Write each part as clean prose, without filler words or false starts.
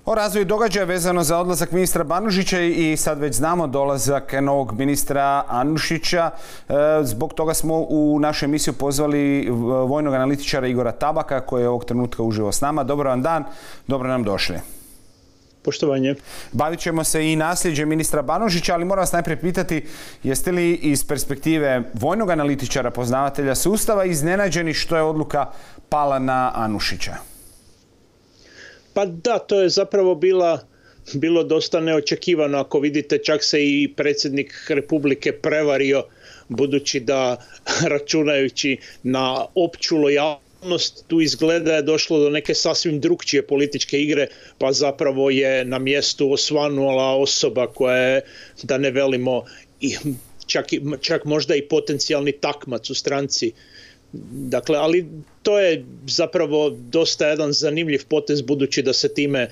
O razvoju događaja vezano za odlazak ministra Banožića i sad već znamo dolazak novog ministra Anušića. Zbog toga smo u našu emisiju pozvali vojnog analitičara Igora Tabaka koji je ovog trenutka uživo s nama. Dobar vam dan, dobro nam došli. Poštovanje. Bavit ćemo se i nasljeđem ministra Banožića, ali moram vas najprije pitati jeste li iz perspektive vojnog analitičara, poznavatelja sustava, iznenađeni što je odluka pala na Anušića? Pa da, to je zapravo bilo dosta neočekivano. Ako vidite, čak se i predsjednik Republike prevario, budući da, računajući na opću lojalnost, tu izgleda je došlo do neke sasvim drukčije političke igre, pa zapravo je na mjestu osvanula osoba koja je, da ne velimo, čak možda i potencijalni takmac u stranci. Dakle, ali to je zapravo dosta jedan zanimljiv potez, budući da se time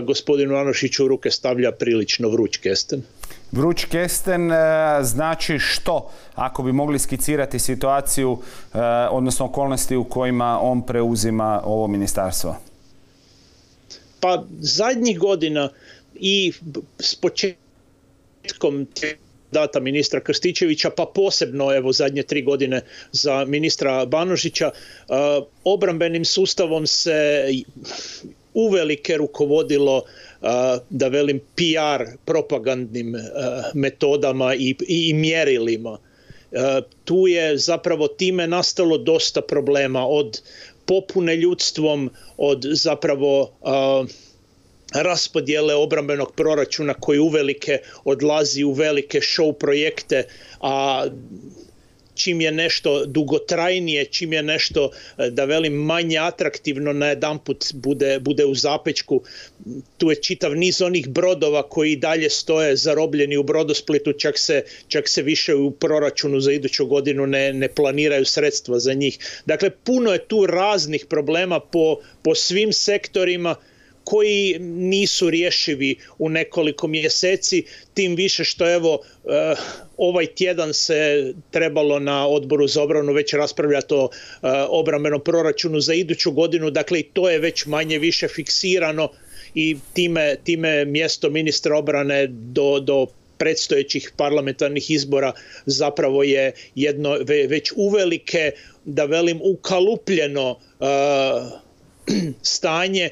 gospodinu Anušiću u ruke stavlja prilično vruć kesten. Vruć kesten znači što, ako bi mogli skicirati situaciju, odnosno okolnosti u kojima on preuzima ovo ministarstvo? Pa zadnjih godina i s početkom data ministra Krstičevića, pa posebno evo zadnje 3 godine za ministra Banožića, obrambenim sustavom se uvelike rukovodilo, da velim, PR propagandnim metodama i mjerilima. Tu je zapravo time nastalo dosta problema, od popune ljudstvom, od zapravo raspodjele obrambenog proračuna koji uvelike odlazi u velike show projekte, a čim je nešto dugotrajnije, čim je nešto, da velim, manje atraktivno, najedanput bude u zapečku. Tu je čitav niz onih brodova koji dalje stoje zarobljeni u Brodosplitu, čak se više u proračunu za iduću godinu ne planiraju sredstva za njih. Dakle, puno je tu raznih problema po svim sektorima koji nisu rješivi u nekoliko mjeseci, tim više što evo ovaj tjedan se trebalo na Odboru za obranu već raspravljati o obrambenom proračunu za iduću godinu, dakle i to je već manje više fiksirano i time mjesto ministra obrane do predstojećih parlamentarnih izbora zapravo je jedno već uvelike, da velim, ukalupljeno stanje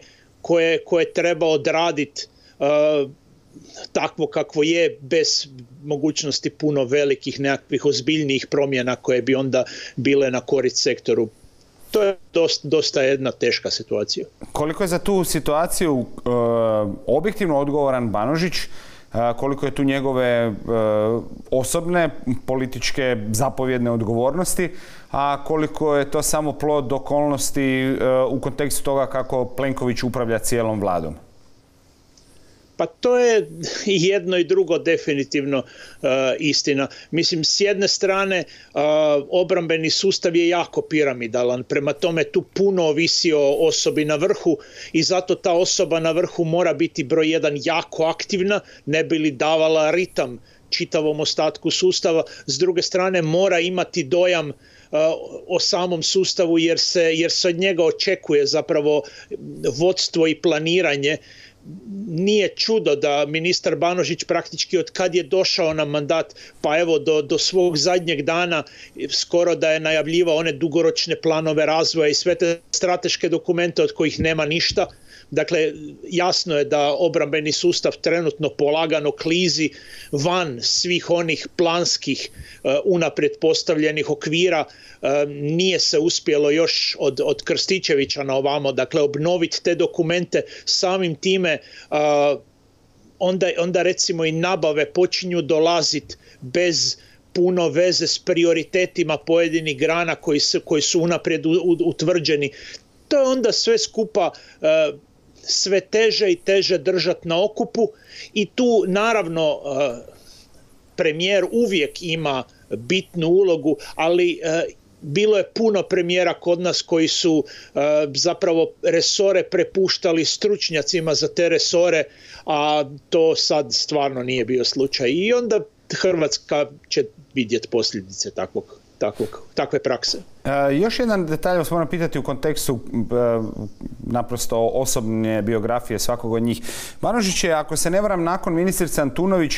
koje treba odraditi takvo kakvo je, bez mogućnosti puno velikih nekakvih ozbiljnijih promjena koje bi onda bile na korist sektoru. To je dosta jedna teška situacija. Koliko je za tu situaciju objektivno odgovoran Banožić, koliko je tu njegove osobne, političke, zapovjedne odgovornosti, a koliko je to samo plod okolnosti u kontekstu toga kako Plenković upravlja cijelom vladom? Pa to je i jedno i drugo definitivno istina. Mislim, s jedne strane obrambeni sustav je jako piramidalan, prema tome tu puno ovisi o osobi na vrhu i zato ta osoba na vrhu mora biti broj jedan jako aktivna, ne bi li davala ritam čitavom ostatku sustava. S druge strane mora imati dojam o samom sustavu jer se od njega očekuje zapravo vodstvo i planiranje. Nije čudo da ministar Banožić praktički od kad je došao na mandat, pa evo do svog zadnjeg dana, skoro da je najavljivao one dugoročne planove razvoja i sve te strateške dokumente od kojih nema ništa. Dakle, jasno je da obrambeni sustav trenutno polagano klizi van svih onih planskih unaprijed postavljenih okvira. Nije se uspjelo još od Krstičevića na ovamo, dakle, obnoviti te dokumente. Samim time onda recimo i nabave počinju dolaziti bez puno veze s prioritetima pojedinih grana koji su unaprijed utvrđeni. To je onda sve skupa sve teže i teže držati na okupu i tu naravno premijer uvijek ima bitnu ulogu, ali bilo je puno premijera kod nas koji su zapravo resore prepuštali stručnjacima za te resore, a to sad stvarno nije bio slučaj. I onda Hrvatska će vidjeti posljedice takve prakse. Još jedan detalj vas moram pitati u kontekstu naprosto osobne biografije svakog od njih. Banožić je, ako se ne varam, nakon ministrice Antunović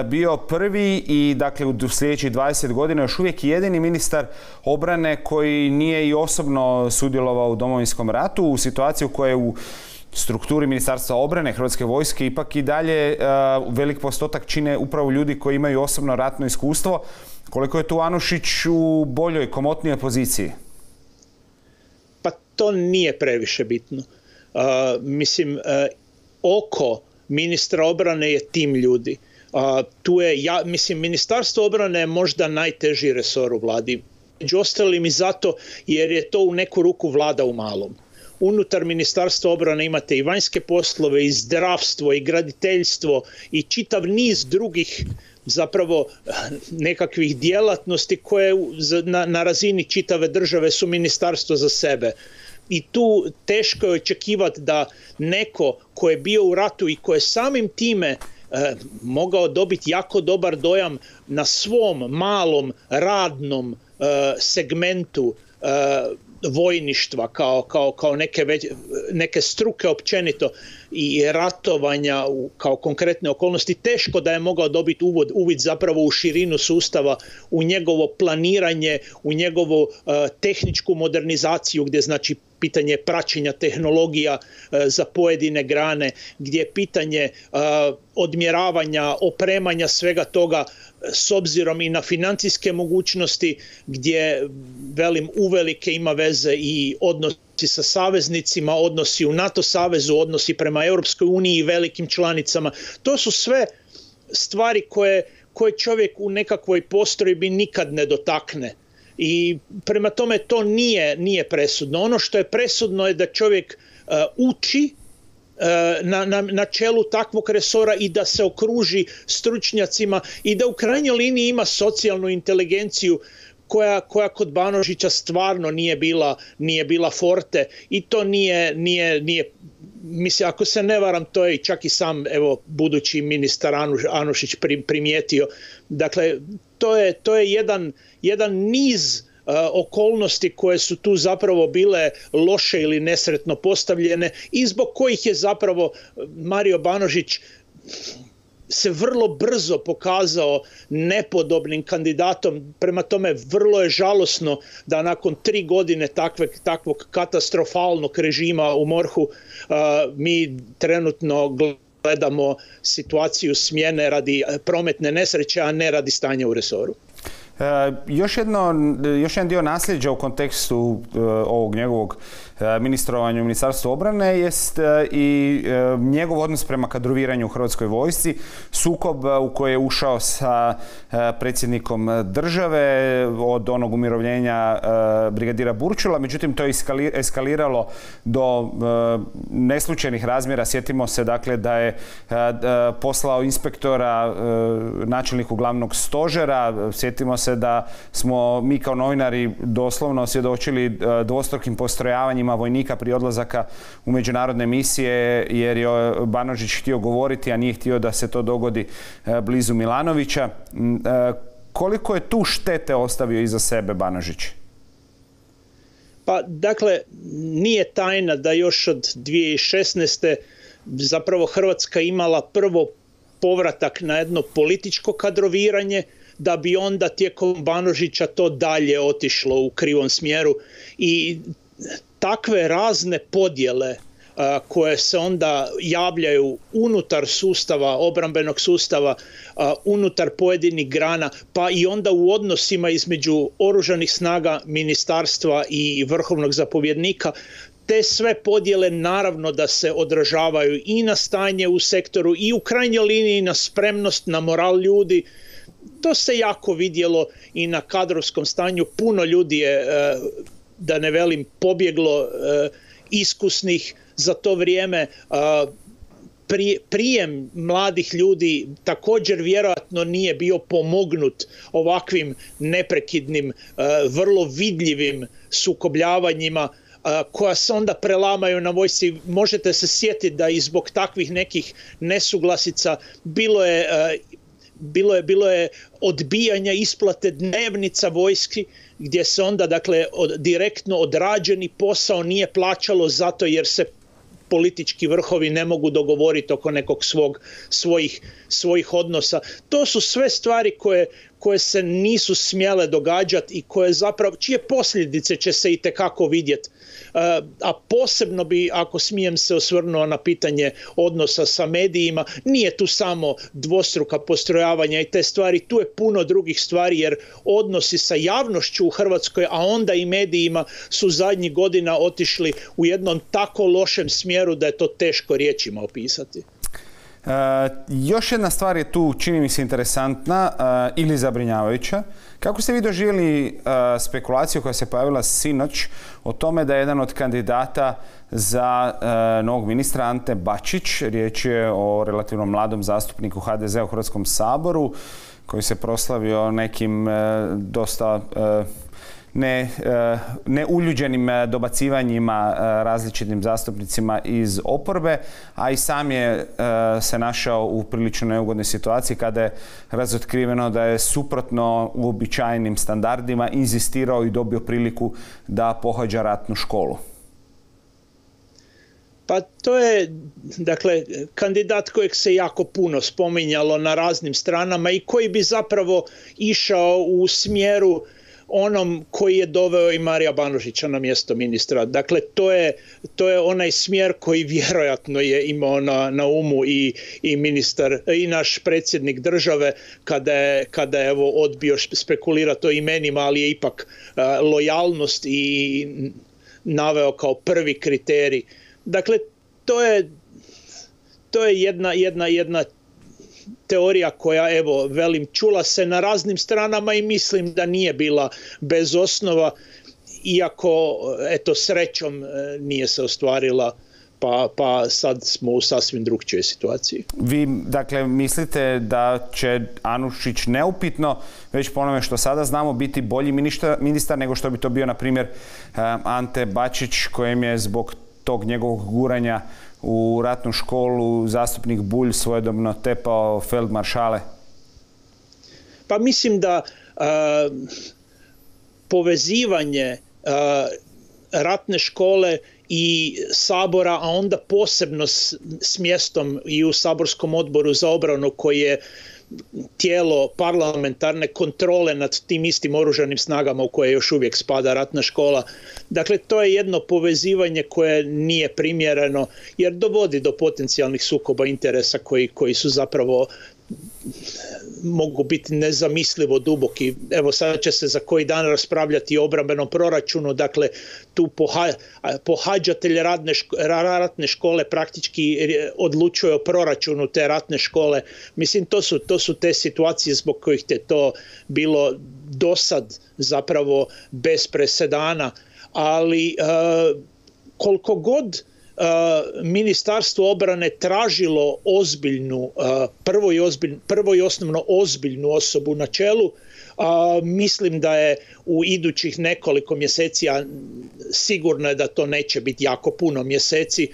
bio prvi i dakle u sljedećih 20 godina još uvijek jedini ministar obrane koji nije i osobno sudjelovao u Domovinskom ratu, u situaciji u kojoj u strukturi Ministarstva obrane Hrvatske vojske ipak i dalje velik postotak čine upravo ljudi koji imaju osobno ratno iskustvo. Koliko je tu Anušić u boljoj, komotnijoj poziciji? Pa to nije previše bitno. Oko ministra obrane je tim ljudi. Ministarstvo obrane je možda najteži resor u vladi. Među ostalim i zato jer je to u neku ruku vlada u malom. Unutar Ministarstva obrane imate i vanjske poslove, i zdravstvo, i graditeljstvo, i čitav niz drugih zapravo nekakvih djelatnosti koje na razini čitave države su ministarstvo za sebe. I tu teško je očekivati da neko ko je bio u ratu i ko je samim time mogao dobiti jako dobar dojam na svom malom radnom segmentu vojništva kao neke struke općenito i ratovanja kao konkretne okolnosti, teško da je mogao dobiti uvid zapravo u širinu sustava, u njegovo planiranje, u njegovu tehničku modernizaciju, gdje znači pitanje praćenja tehnologija za pojedine grane, gdje je pitanje odmjeravanja, opremanja svega toga s obzirom i na financijske mogućnosti, gdje uvelike ima veze i odnosi sa saveznicima, odnosi u NATO savezu, odnosi prema Europskoj uniji i velikim članicama. To su sve stvari koje čovjek u nekakvoj postrojbi nikad ne dotakne. I prema tome to nije presudno. Ono što je presudno je da čovjek uči na čelu takvog resora i da se okruži stručnjacima i da u krajnjoj liniji ima socijalnu inteligenciju koja kod Banožića stvarno nije bila forte i to nije mislim, ako se ne varam, to je čak i sam budući ministar Anušić primijetio. Dakle, to je jedan niz okolnosti koje su tu zapravo bile loše ili nesretno postavljene i zbog kojih je zapravo Mario Banožić se vrlo brzo pokazao nepodobnim kandidatom. Prema tome vrlo je žalosno da nakon 3 godine takvog katastrofalnog režima u MORH-u mi trenutno gledamo situaciju smjene radi prometne nesreće, a ne radi stanja u resoru. Još jedan dio nasljeđa u kontekstu ovog njegovog ministrovanja u Ministarstvu obrane jest i njegov odnos prema kadroviranju u Hrvatskoj vojsci, sukob u koji je ušao sa predsjednikom države od onog umirovljenja brigadira Burčula, međutim to je eskaliralo do neslučajnih razmjera. Sjetimo se dakle da je poslao inspektora načelniku glavnog stožera, sjetimo se da smo mi kao novinari doslovno svjedočili dvostrukim postrojavanjima vojnika prije odlazaka u međunarodne misije jer je Banožić htio govoriti, a nije htio da se to dogodi blizu Milanovića. Koliko je tu štete ostavio iza sebe Banožić? Pa dakle, nije tajna da još od 2016. zapravo Hrvatska imala prvo povratak na jedno političko kadroviranje, da bi onda tijekom Banožića to dalje otišlo u krivom smjeru i takve razne podjele koje se onda javljaju unutar sustava, obrambenog sustava, unutar pojedinih grana, pa i onda u odnosima između oružanih snaga, ministarstva i vrhovnog zapovjednika, te sve podjele naravno da se odražavaju i na stanje u sektoru i u krajnjoj liniji na spremnost, na moral ljudi. To se jako vidjelo i na kadrovskom stanju. Puno ljudi je, da ne velim, pobjeglo iskusnih za to vrijeme. Prijem mladih ljudi također vjerojatno nije bio pomognut ovakvim neprekidnim, vrlo vidljivim sukobljavanjima koja se onda prelamaju na vojsci. Možete se sjetiti da i zbog takvih nekih nesuglasica bilo je bilo je odbijanja isplate dnevnica vojski, gdje se onda dakle direktno odrađeni posao nije plaćalo zato jer se politički vrhovi ne mogu dogovoriti oko nekog svojih odnosa. To su sve stvari koje se nisu smjele događati i koje zapravo, čije posljedice će se itekako vidjeti. A posebno bi, ako smijem se osvrnuo na pitanje odnosa sa medijima, nije tu samo dvostruka postrojavanja i te stvari, tu je puno drugih stvari jer odnosi sa javnošću u Hrvatskoj, a onda i medijima su zadnjih godina otišli u jednom tako lošem smjeru da je to teško riječima opisati. Još jedna stvar je tu, čini mi se, interesantna ili zabrinjavajuća. Kako ste vi doživjeli spekulaciju koja se pojavila sinoć o tome da je jedan od kandidata za novog ministra Ante Bačić, riječ je o relativno mladom zastupniku HDZ-a u Hrvatskom saboru, koji se proslavio nekim dosta neuljuđenim dobacivanjima različitim zastupnicima iz oporbe, a i sam je se našao u prilično neugodnoj situaciji kada je razotkriveno da je suprotno uobičajenim standardima inzistirao i dobio priliku da pohađa ratnu školu. Pa to je, dakle, kandidat kojeg se jako puno spominjalo na raznim stranama i koji bi zapravo išao u smjeru onom koji je doveo i Marija Banožića na mjesto ministra. Dakle, to je onaj smjer koji vjerojatno je imao na umu i ministar i naš predsjednik države kada je evo odbio spekulirati o imenima, ali je ipak lojalnost i naveo kao prvi kriterij. Dakle, to je jedna teorija koja, evo, velim, čula se na raznim stranama i mislim da nije bila bez osnova, iako, eto, srećom nije se ostvarila, pa sad smo u sasvim drugčijoj situaciji. Vi, dakle, mislite da će Anušić neupitno, već po onome što sada znamo, biti bolji ministar nego što bi to bio, na primjer, Ante Bačić, kojem je zbog tog njegovog guranja u ratnu školu zastupnik Bulj svojedobno tepao feldmaršale? Pa mislim da povezivanje ratne škole i Sabora, a onda posebno s mjestom i u Saborskom odboru za obranu koji je tijelo parlamentarne kontrole nad tim istim oružanim snagama u koje još uvijek spada ratna škola. Dakle, to je jedno povezivanje koje nije primjereno jer dovodi do potencijalnih sukoba interesa koji su zapravo mogu biti nezamislivo duboki. Evo, sada će se za koji dan raspravljati o obrambenom proračunu, dakle tu pohađatelj ratne škole praktički odlučuje o proračunu te ratne škole. Mislim, to su te situacije zbog kojih je to bilo dosad zapravo bez presedana, ali koliko god Ministarstvo obrane tražilo ozbiljnu, prvo i osnovno ozbiljnu osobu na čelu, mislim da je u idućih nekoliko mjeseci, a sigurno je da to neće biti jako puno mjeseci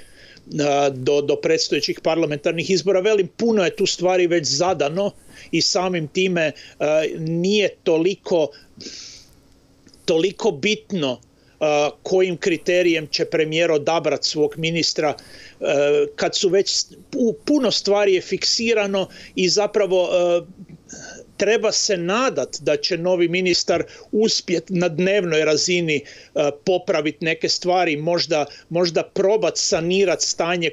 do predstojećih parlamentarnih izbora, velim, puno je tu stvari već zadano i samim time nije toliko bitno kojim kriterijem će premijer odabrati svog ministra kad su već puno stvari je fiksirano i zapravo treba se nadati da će novi ministar uspjeti na dnevnoj razini popraviti neke stvari, možda probati sanirati stanje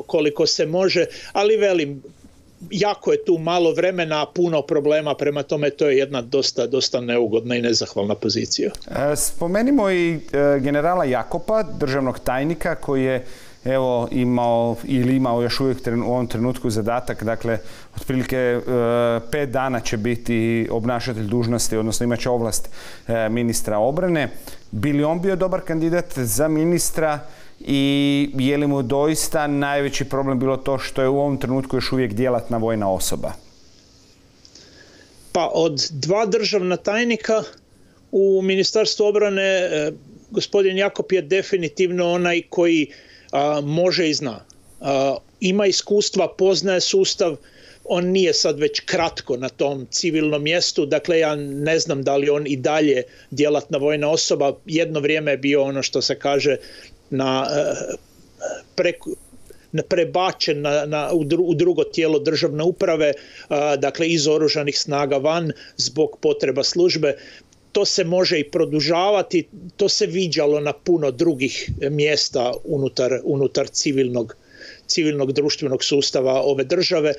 koliko se može, ali velim, jako je tu malo vremena, a puno problema, prema tome to je jedna dosta neugodna i nezahvalna pozicija. Spomenimo i generala Jakopa, državnog tajnika, koji je imao još uvijek u ovom trenutku zadatak, dakle, otprilike 5 dana će biti obnašatelj dužnosti, odnosno imat će ovlast ministra obrane. Bi li on bio dobar kandidat za ministra i je li mu doista najveći problem bilo to što je u ovom trenutku još uvijek djelatna vojna osoba? Pa od 2 državna tajnika u Ministarstvu obrane gospodin Jakop je definitivno onaj koji može i zna. Ima iskustva, poznaje sustav, on nije sad već kratko na tom civilnom mjestu, dakle ja ne znam da li on i dalje djelatna vojna osoba, jedno vrijeme je bio ono što se kaže prebačen u drugo tijelo državne uprave, dakle iz oružanih snaga van zbog potreba službe. To se može i produžavati, to se viđalo na puno drugih mjesta unutar civilnog društvenog sustava ove države.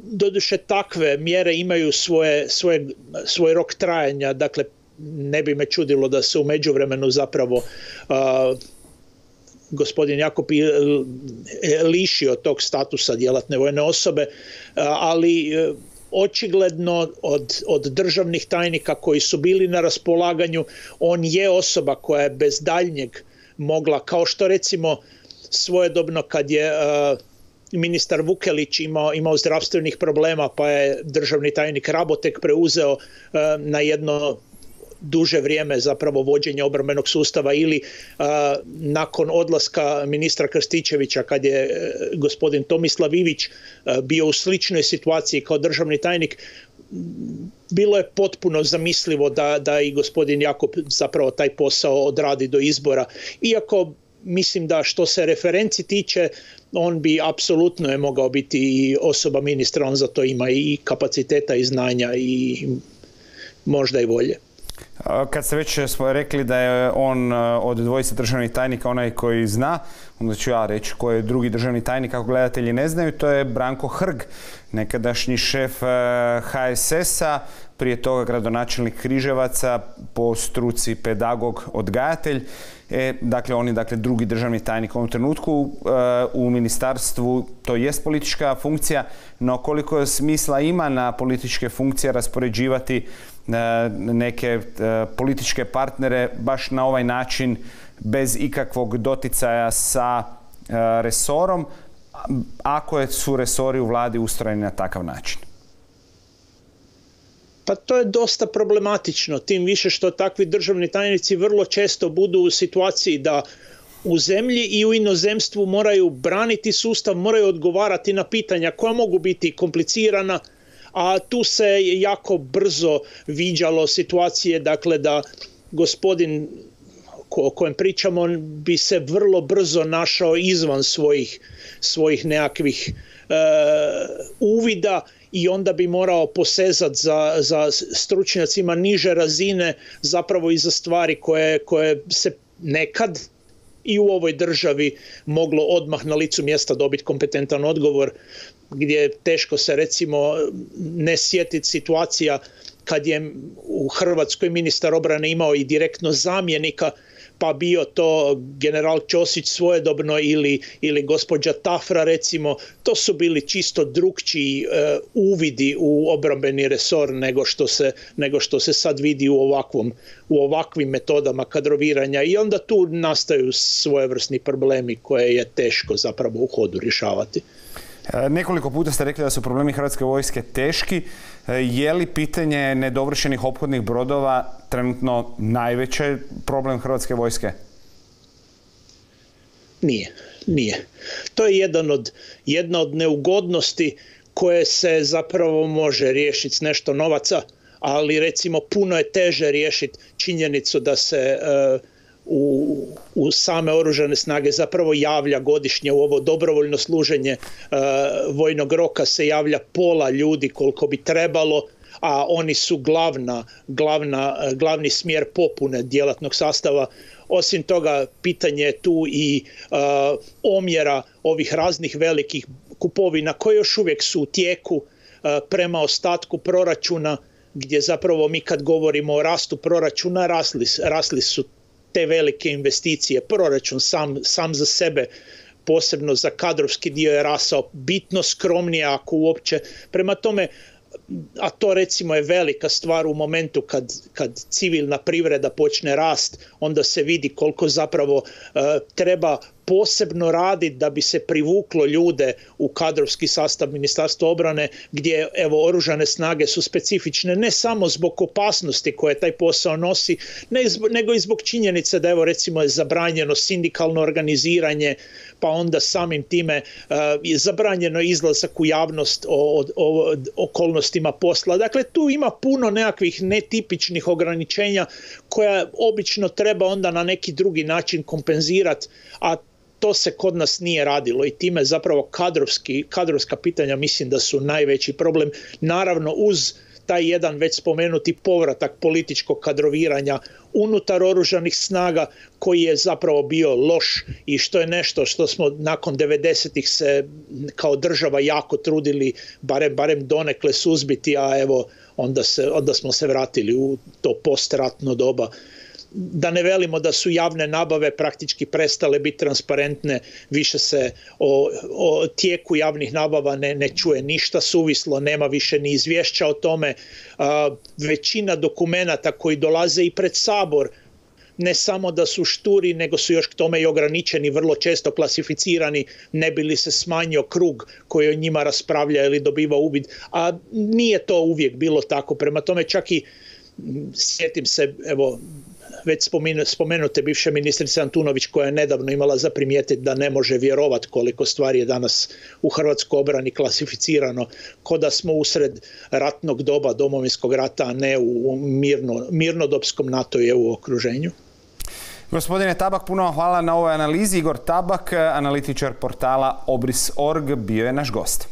Doduše takve mjere imaju svoj rok trajanja, dakle ne bi me čudilo da se u međuvremenu zapravo gospodin Jakop lišio tog statusa djelatne vojne osobe, ali očigledno od državnih tajnika koji su bili na raspolaganju, on je osoba koja je bez daljnjeg mogla, kao što recimo svojedobno kad je ministar Vukelić imao zdravstvenih problema pa je državni tajnik Rabotek preuzeo na jedno duže vrijeme zapravo vođenje obrambenog sustava, ili nakon odlaska ministra Krstičevića kad je gospodin Tomislav Ivić bio u sličnoj situaciji kao državni tajnik, bilo je potpuno zamislivo da i gospodin Jakop zapravo taj posao odradi do izbora. Iako mislim da što se referenci tiče, on bi apsolutno je mogao biti i osoba ministra, on za to ima i kapaciteta i znanja i možda i volje. Kad ste već smo rekli da je on od dvojice državnih tajnika onaj koji zna, onda ću ja reći koji je drugi državni tajnik, ako gledatelji ne znaju, to je Branko Hrg, nekadašnji šef HSS-a, prije toga gradonačelnik Križevaca, po struci pedagog, odgajatelj. Dakle, on je drugi državni tajnik u ovom trenutku. U ministarstvu to jest politička funkcija, no koliko smisla ima na političke funkcije raspoređivati neke političke partnere baš na ovaj način, bez ikakvog doticaja sa resorom, ako su resori u vladi ustrojeni na takav način? Pa to je dosta problematično, tim više što takvi državni tajnici vrlo često budu u situaciji da u zemlji i u inozemstvu moraju braniti sustav, moraju odgovarati na pitanja koja mogu biti komplicirana, a tu se jako brzo viđalo situacije, dakle da gospodin o kojem pričamo bi se vrlo brzo našao izvan svojih nekakvih uvida i onda bi morao posezati za stručnjacima niže razine, zapravo i za stvari koje se nekad i u ovoj državi moglo odmah na licu mjesta dobiti kompetentan odgovor, gdje teško se recimo ne sjetiti situacija kad je u Hrvatskoj ministar obrane imao i direktno zamjenika, pa bio to general Ćosić svojedobno ili gospođa Tafra recimo. To su bili čisto drukčiji uvidi u obrambeni resor nego što se sad vidi u ovakvim metodama kadroviranja, i onda tu nastaju svojevrsni problemi koje je teško zapravo u hodu rješavati. Nekoliko puta ste rekli da su problemi Hrvatske vojske teški. Je li pitanje nedovršenih ophodnih brodova trenutno najveći problem Hrvatske vojske? Nije. To je jedna od neugodnosti koje se zapravo može riješiti s nešto novaca, ali recimo puno je teže riješiti činjenicu da se u same oružane snage zapravo javlja godišnje u ovo dobrovoljno služenje vojnog roka se javlja pola ljudi koliko bi trebalo, a oni su glavni smjer popune djelatnog sastava. Osim toga, pitanje je tu i omjera ovih raznih velikih kupovina koje još uvijek su u tijeku prema ostatku proračuna, gdje zapravo mi kad govorimo o rastu proračuna, rasli su te velike investicije. Proračun sam za sebe, posebno za kadrovski dio, je rasao bitno skromnije ako uopće. Prema tome, a to recimo je velika stvar u momentu kad civilna privreda počne rast, onda se vidi koliko zapravo treba posebno raditi da bi se privuklo ljude u kadrovski sastav Ministarstva obrane, gdje evo oružane snage su specifične ne samo zbog opasnosti koje taj posao nosi, nego i zbog činjenice da evo recimo je zabranjeno sindikalno organiziranje, pa onda samim time je zabranjeno izlazak u javnost o okolnostima posla. Dakle, tu ima puno nekakvih netipičnih ograničenja koja obično treba onda na neki drugi način kompenzirati, a to se kod nas nije radilo i time zapravo kadrovska pitanja mislim da su najveći problem. Naravno uz taj jedan već spomenuti povratak političkog kadroviranja unutar oružanih snaga koji je zapravo bio loš i što je nešto što smo nakon 90-ih se kao država jako trudili barem donekle suzbiti, a evo onda smo se vratili u to postratno doba. Da ne velimo da su javne nabave praktički prestale biti transparentne, više se o tijeku javnih nabava ne čuje ništa suvislo, nema više ni izvješća o tome. Većina dokumenata koji dolaze i pred Sabor ne samo da su šturi, nego su još k tome i ograničeni, vrlo često klasificirani, ne bi li se smanjio krug koji o njima raspravlja ili dobiva uvid, a nije to uvijek bilo tako. Prema tome čak i sjetim se, evo, već spomenute bivše ministrice Antunović koja je nedavno imala za primijetiti da ne može vjerovati koliko stvari je danas u hrvatskoj obrani klasificirano, ko da smo usred ratnog doba Domovinskog rata, a ne u mirnodopskom NATO i EU okruženju. Gospodine Tabak, puno hvala na ovoj analizi. Igor Tabak, analitičar portala Obris.org, bio je naš gost.